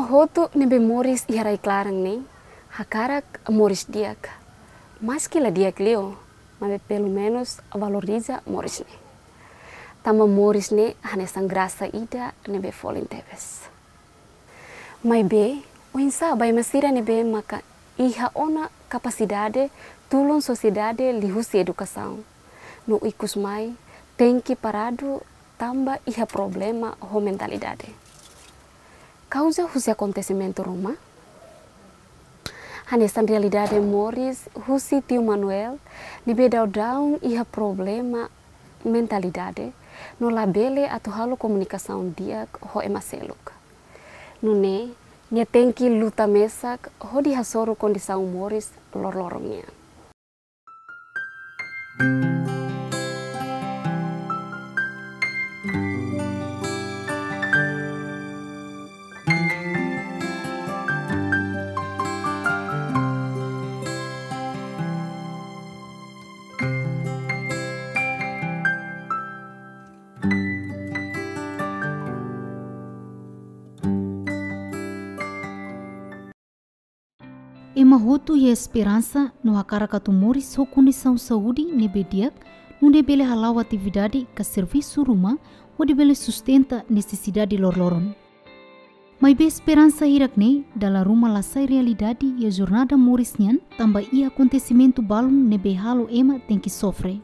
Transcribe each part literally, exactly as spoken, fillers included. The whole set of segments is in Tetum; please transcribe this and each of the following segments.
Hotu ne'ebé moris iha rai klaran ne'e hakarak moris di'ak. Maski la di'ak liu, maibé pelumenus valoriza moris ne'e. Tanba moris ne'e hanesan grasa ida ne'ebé folin tebes. Maibé, oinsá ba ema sira ne'ebé maka iha ona kapasidade tulun sosiedade liuhusi edukasaun, no ikus mai tenke paradu tanba iha problema ho mentalidade kauza husi akontesimentu ruma? Hanesan realidade moris husi tiu Manuel ne'ebé daudaun iha problema mentalidade no labele atu halo komunikasaun di'ak ho ema seluk. Nune'e, nia tenke luta mesak hodi hasoru kondisaun moris loroloron nian. Ema hotu iha esperansa no hakarak atu moris ho kondisaun saúde ne'ebé di'ak, nune'e bele hala'o atividade ka servisu ruma, hodi bele sustenta nesesidade loroloron. Maibé esperansa hirak-ne'e dala ruma la sai realidade iha jornada moris nian, tanba iha akontesimentu balun ne'ebé halo ema tenke sofre.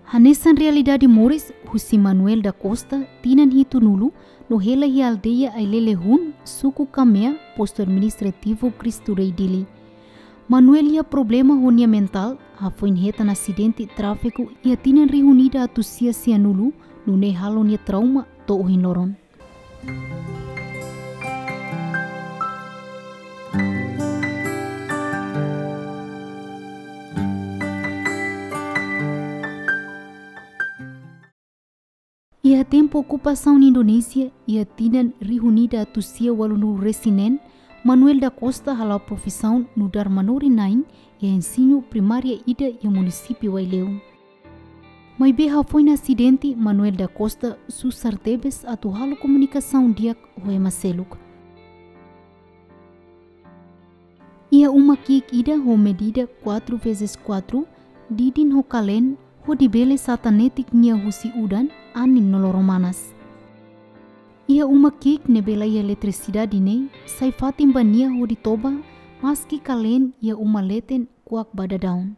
Hanesan realidade moris husi Manuel da Costa, tinan hitunulu, no hela iha aldeia Ailele Hun, suku Kamea, postu administrativu Cristo Rei, Dili. Manuel iha problema ho nia mentál, hafoin hetan asidente tráfiku iha tinan rihun ida atus sia sianulu, nune'e halo nia trauma to'o ohin loron. Iha tempu okupasaun Indonézia, iha tinan rihun ida atus sia ualunulu resin neen, Manuel da Costa hala'o profisaun nu'udar manorin-na'in iha ensinu primária ida iha munisípiu Aileu. Maibé hafoin asidente, Manuel da Costa susar tebes atu halo komunikasaun di'ak ho ema seluk. Iha uma ki'ik ida ho medida quatro vezes quatro, didin ho kaleen, hodi bele satan netik nia husi udan, anin no loro-manas. Iha uma ki'ik ne'ebé la iha eletrisidade ne'e, sai fatin ba nia hodi toba, maski kaleen iha uma leten kuak ba daudaun.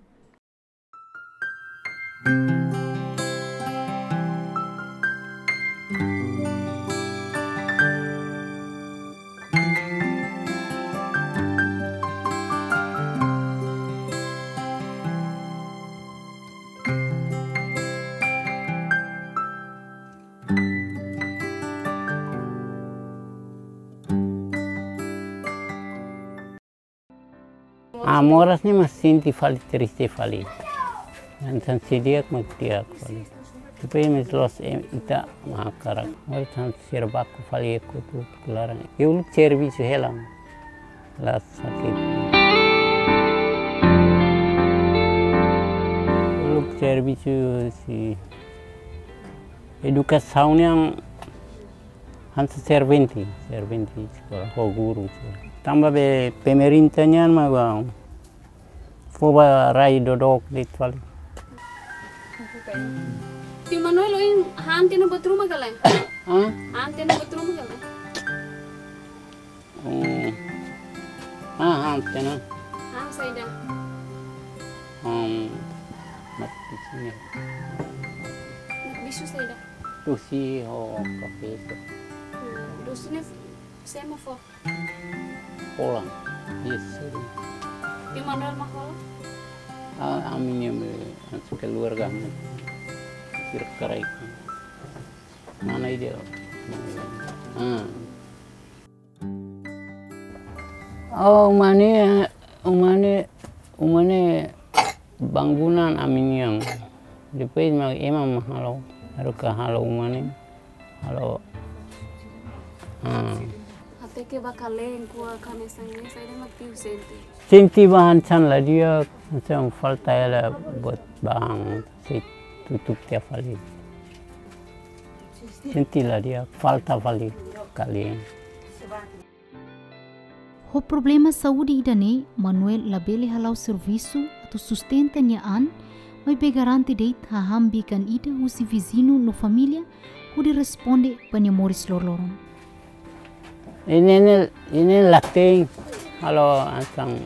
Ah, moras ne'e mak sente fali, triste fali. Hanesan seidauk mak di'ak fali. Depois mak loos, eh, ita mak hakarak. Moras hanesan sira baku fali, e kotu klaran. Uluk servisu hela, la sakit. Uluk servisu husi edukasaun nian hanesan servente, servente eskola, ho guru. Tanba be pemerintah nian mak fó ba rai dodook de'it fali. Tiu Manuel, ohin han tiha ona buat ruma ka lae? Hah? Han tiha ona buat ruma ka lae? Hmm. Ah, han tiha ona. Han saida? Hmm. Mak bisunya. Mak bisu saida? Dosi ho kafé. Hmm, dosi ne'e sé mak fó? Hola. Yes, sih. Tiu Manuel mak hola? Ah, ami-nia, eh, keluarga, ami. Kira-kira itu. Mana ide? Ah. Oh, uma ne'e, uma ne'e, uma ne'e bangunan ami-nian. Depois mak ema mak halo, haruka halo uma ne'e. Halo. Ah. Até ke ba kaleen kuak hanesan ne'e, saida mak tiu sente? Sente ba hanesan la di'ak, hanesan falta hela buat bahan, sei tutup tiha fali. Sente la di'ak, falta fali kaleen. Ho problema saúde ida-ne'e, Manuel labele hala'o servisu atu sustenta nia an, maibé garante de'it hahán bikan ida husi viziñu no família hodi responde ba nia moris loroloron. Ida-ne'e, ida-ne'e laten, halo hanesan,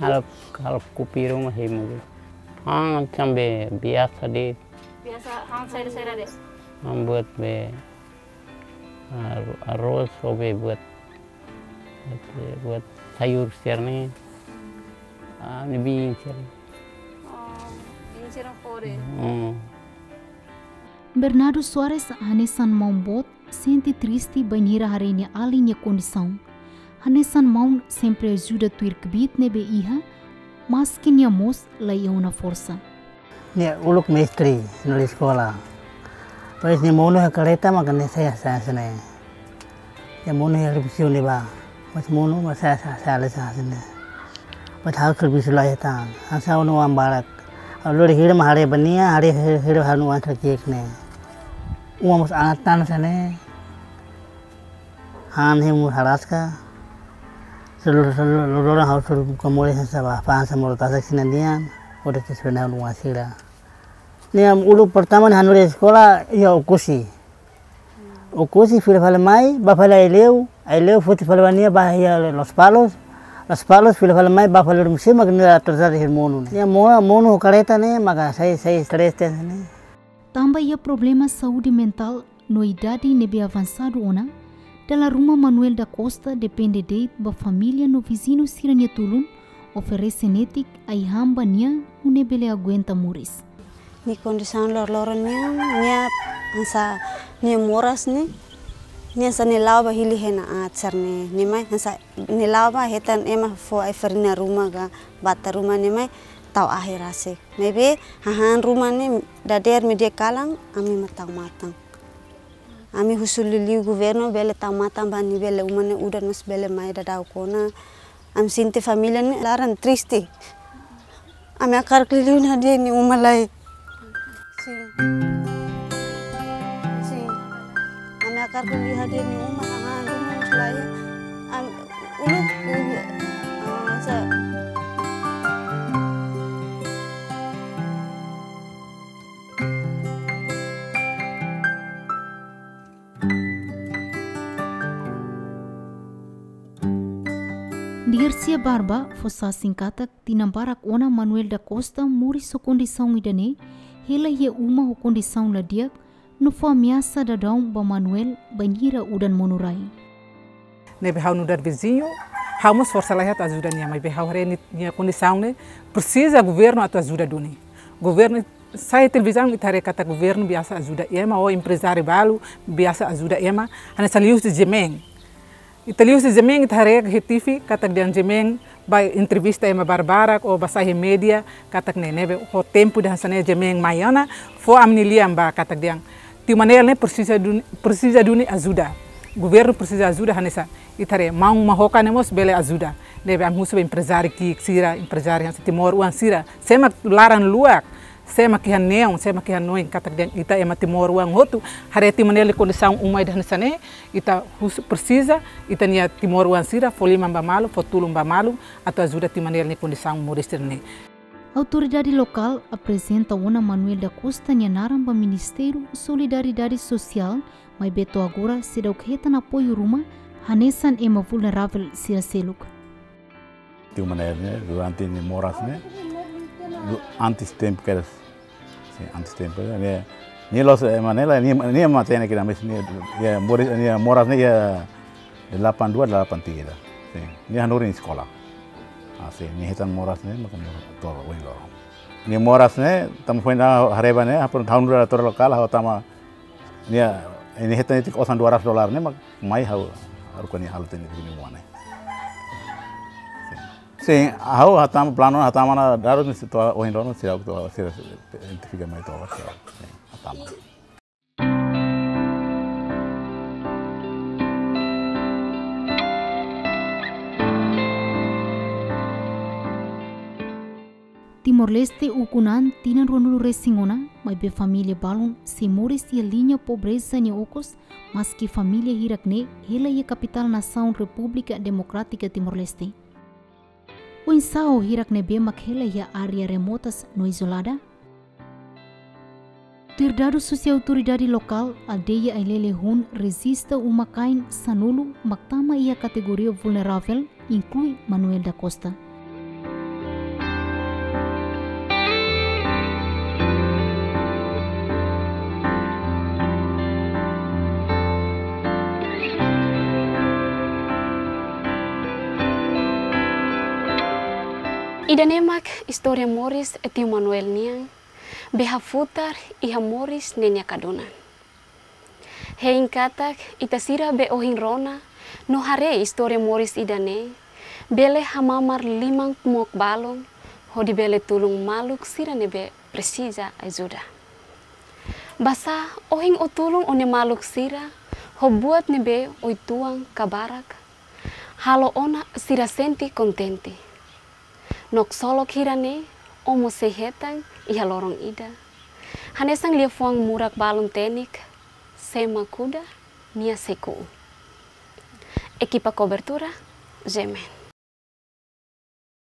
halo, halo kupiru ma hemu. Hanesan be biasa de'it. Biasa hanesan saida-saida de'it. Ha'u buat be ar-, arroz ho be buat, buat, buat sayur sira-ne'e. Ah, ne'e biin sira. Oh, biin sira fore. Hmm. Bernardo Soares hanesan maun boot sente triste bainhira haree nia alin nia kondisaun. Hanesan maun sempre ajuda tuir kbiit ne'ebé iha, maski nia mós la iha ona forsa. Nia uluk mestre, nu'udar eskola. Depois nia monu iha kareta maka nia sai, sai, sai ne'e. Nia monu iha revisiun ne'ebá. Mas monu, mas sai, sai, sai, sai, sai ne'e. Mas ha'u servisu lai tan. Hanesan oan barak. Ha'u lori hira mak haree ba nia, haree hira, hira ha'u-nia oan sira ki'ik ne'e. Uma mós aat tan hanesan ne'e. Han hemu haraska. Selu, selu, loroloron ha'u selu buka moris hanesan ba, fa'an hanesan modo tasak sira-nian. Hodi ke sena oan sira. Nia uluk pertama nia hanorin eskola iha Oekusi. Oekusi fila fali mai, bá fali Aileu, Aileu foti fali ba nia bá iha Lospalos, Lospalos fila fali mai, bá fali Oermesir, maka nia atrasadu iha monu ne'e. Nia mo-, monu ho kareta ne'e, maka sai, sai stress tens ne'e. Tanba iha problema saúde mentál no idade ne'ebé avansadu ona, dala ruma Manuel da Costa depende de'it ba família no viziñu sira-nia tulun, oferese netik ai-han ba nia nune'e bele aguenta moris. Nia kondisaun loroloron nian, nia hanesan nia moras ne'e, nia hanesan nia la'o ba hili hena aat sira-ne'e, nia mai hanesan nia la'o ba hetan ema fó ai-farina ruma ka bata ruma nia mai tau ahi rasik. Maibé hahán ruma ne'e dadeer meiudia kalan ami mak tau matan. Ami husu liuliu governu bele tau matan ba nia bele uma ne'e udan mós bele mai daudaun ona. Ami sente família ne'e laran triste. Ami hakarak liuliu hadi'a nia uma lai. Sin. Sin. Ami hakarak liuliu hadi'a nia uma, hahán ruma mós la iha. Ami uluk, uluk, ah, sa- Dircia Barba fó sasin katak tinan barak ona Manuel da Costa moris ho kondisaun ida-ne'e, hela iha uma ho kondisaun la di'ak, no fó ameasa daudaun ba Manuel bainhira udan monu rai. Ne'ebé ha'u nu'udar viziñu, ha'u mós forsa laiha atu ajuda nia, maibé ha'u haree nia, nia kondisaun ne'e presiza governu atu ajuda duni. Governu, sai televizaun ita haree katak governu biasa ajuda ema, ou emprezáriu balu biasa ajuda ema, hanesan liuhusi Jemeen. Ita liuhusi Jemeen, ita haree iha T V katak dehan Jemeen bá entrevista ema barbarak ou bá sai iha média katak ne'e, ne'ebé ho tempu ida hanesan ne'e Jemeen mai ona, fó ami-nia lian bá katak dehan tiu Manuel ne'e presiza duni, presiza duni ajuda. Governu presiza ajuda hanesan ita haree maun Mahoka ne'e mós bele ajuda. Ne'ebé ami husu ba emprezáriu ki'ik sira, emprezáriu hanesan timoroan sira. Sé mak laran luak, sé mak iha neon, sé mak iha hanoin katak dehan ita ema timoroan hotu haree tiu Manuel nia kondisaun uma ida hanesan ne'e, ita husu presiza, ita-nia timoroan sira fó liman ba malu, fó tulun ba malu, atu ajuda tiu Manuel nia kondisaun moris sira-ne'e. Autoridade lokál aprezenta ona Manuel da Costa nia naran ba Ministériu Solidariedade Sosiál, maibé to'o agora seidauk hetan apoiu ruma hanesan ema vulneravel sira seluk. Tiu Manuel ne'e, durante nia moras ne'e, du-, antes tempu kedas, sin, antes tempu ne'e, nia, nia la'ós, eh, Manuel, nia, nia matenek iha, mas nia, nia moris, nia moras ne'e iha delapan dua, delapan tiga. Sin, nia hanorin eskola. Ah, sin, nia hetan moras ne'e, maka nia to'o ohin loron. Nia moras ne'e, tanba foin ha'u haree ba ne'e, ha'u pun tahun dua ratus lokál, ha'u tama, nia, nia hetan netik osan dua ratus dolar ne'e, mak mai ha'u, ha'u haruka nia halo tene kini muane. Sin. Sin, ha'u hatama planu, hatama ona dalan ne'e to'o ohin loron, sira to'o, sira identifika mai to'o, sira. Sin, hatama. Timor-Leste ukun an tinan ruanulu resin ona, maibé família balun sei moris iha liña pobreza nia okos, maski família hirak ne'e hela iha kapitál nasaun Repúblika Demokrátika Timor-Leste. Oinsá ho hirak ne'ebé mak hela iha área remotas no izolada? Tuir dadus husi autoridade lokál, aldeia Ailele Hun rejista uma-kain sanulu mak tama iha kategoria vulneravel, inklui Manuel da Costa. Ida-ne'e mak istória moris Tiu Manuel nian, be hafutar iha moris ne'e nia kadunan. Hein katak ita sira be ohin rona no haree istória moris ida-ne'e, bele hamamar liman kmook balun, hodi bele tulun maluk sira ne'ebé presiza ajuda. Basá ohin ó tulun ó-nia maluk sira ho buat ne'ebé ó-nia uitoan ka barak, halo ona sira sente kontente. No ksolok hira-ne'e ó mós sei hetan iha loron ida, hanesan liafuan murak balun tenik: "Sé mak kuda, nia sei ku'u." Ekipa kobertura, G M N.